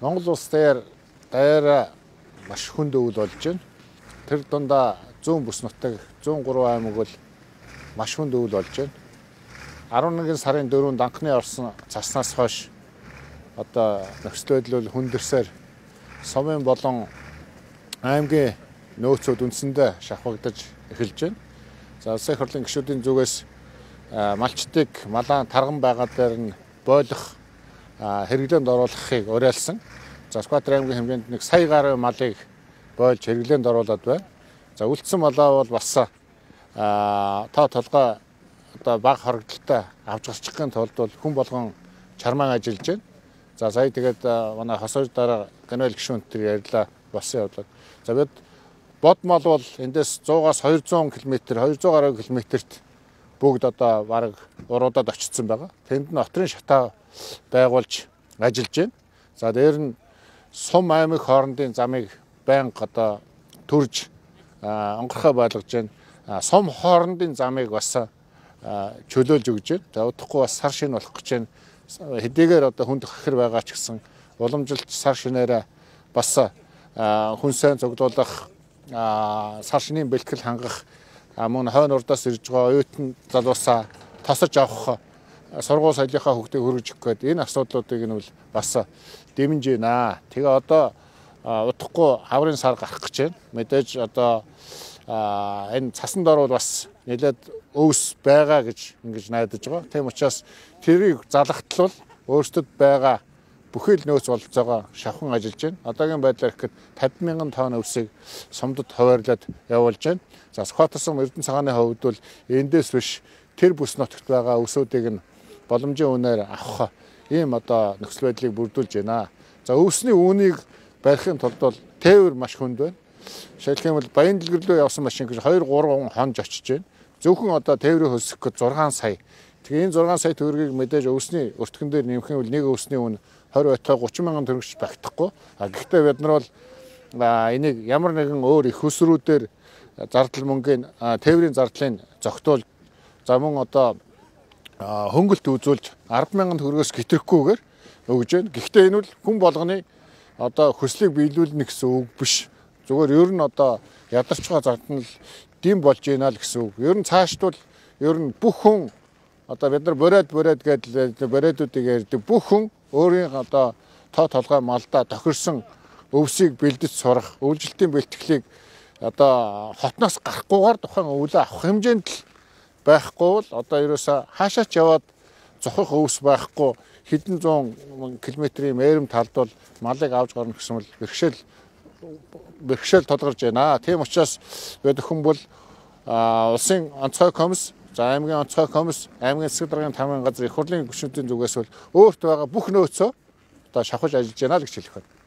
Монгол улс дээр даяараа маш хүнд өвөл болж байна. Тэр дундаа 100 бүс нутаг 103 аймаг бол маш хүнд өвөл болж байна. 11 сарын 4-нд анхны орсон цаснаас хойш одоо нөхцөл байдал бол хүндэрсээр Сумын болон аймгийн нөөцүүд үндсэндээ шавхагдаж эхэлж байна. За улсын их хурлын гишүүдийн зүгээс малчдыг малаан тарган байгаа дээр нь бойлох хэрэглээнд оруулахыг уриалсан. За Сүхбаатар аймгийн хэмжээнд 1 сая гаруй малыг бойлж хэрэглээнд оруулаад байна. За үлдсэн малаа бол бас тоо толгой одоо бага хоригдлолтой авч гарчихын тулд бол хүн болгон чармаан ажиллаж байна. За сая тэгээд манай хосож дараа генерал гишүүнтэй ярьлаа болсон явдлаа. За бид бод мал бол эндээс 100-аас 200 км 200 гаруй км-т бүгд одоо бараг уруудад очсон байгаа. Тэнд нь отрын шатаа байгуулж ажиллаж байна. За дээр нь Сум аймаг хоорондын замыг байнга одоо төрж онгорхой байлгаж байна. Сум хоорондын замыг бас чөлөөлж өгж байна. За удахгүй бас сар шин болох гэж байна. Хэдийгээр одоо хүнд хахир байгаа ч гэсэн уламжилт сар шинээрээ бас хүн сайн цуглуулах сар шинийн бэлтгэл хангах мөн хойно урдаас ирж байгаа оюутан залуусаа тосож авах сургууль соёлынхаа хөгжийг хөргөж өгөх гээд энэ асуудлуудыг нь бол бас дэмжиж байна. Тэгээ одоо удахгүй хаврын сар гарах гэж байна. Мэдээж одоо энэ цасан дор бол бас нэлээд өвс байгаа гэж ингэж найдаж байгаа. Тийм учраас тэрийг залгахтал өөрсдөд байгаа бүхэл нөөц бололцоогоо шавхан ажиллаж байна. Одоогийн байдлаар ихэд 50,000 тонн өвсийг сумдад хуваарлаад явуулж байна. За Сүхбаатар сум Эрдэнэ цагааны хувьд бол эндээс биш тэр бүс нутагт байгаа өвсүүдийг нь боломжийн үнээр авах ийм одоо нөхцөл байдлыг бүрдүүлж байна. За өвсний үүнийг барихын тулд бол тээвэр маш хүнд байна. Жишээлх юм бол баян дэлгэр рүү явсан машин гэж 2-3 хонж очиж байна. Зөвхөн одоо тээврийг хөлсөх гэж 6 сая. Тэгээ энэ 6 сая төгрөгийг мэдээж өвсний өртгөн дээр нэмэх юм бол нэг өвсний үн 20 байтугай 30,000 төгрөгч багтахгүй. Гэхдээ бид нар бол энийг ямар нэгэн өөр их хөсрүүдээр зардал мөнгөний тээврийн зардлыг зогтуул за мөн одоо хөнгөлт үзүүлж 10,000 төгрөгөөс гитрэхгүйгээр өгж байна. Гэхдээ энэ бол хүн болгоны одоо хөслийг биелүүлнэ гэсэн үг биш. Зүгээр ер нь одоо ядарч байгаа зардал нь дэм болж байна л гэсэн үг. Ер нь цаашд бол ер нь бүх хүн одоо бид нар бороод гэдэл бородуудыг ярьдаг бүх хүн өөрийн одоо тоо толгой малдаа тохирсон өвсийг бэлдэж сурах, өвлжилтийн бэлтгэлийг одоо хотноос гарахгүйгээр тухайн өвлөө авах хэмжээнд л байхгүй бол одоо ерөөсөө хаашаач яваад зохих өвс байхгүй хэдэн зуун километрийн мээрим талд бол малыг авч гарна гэсэн бол бэрхшээл тулгарч байна. Тийм учраас бид хүн бол улсын онцгой комисс за аймгийн онцгой комисс аймгийн засаг даргын тамгын газар их хурлын гишүүдийн зүгээс бол өөрт байгаа бүх нөөцөө одоо шавхаж ажиллаж байна л гэж хэлэх байна.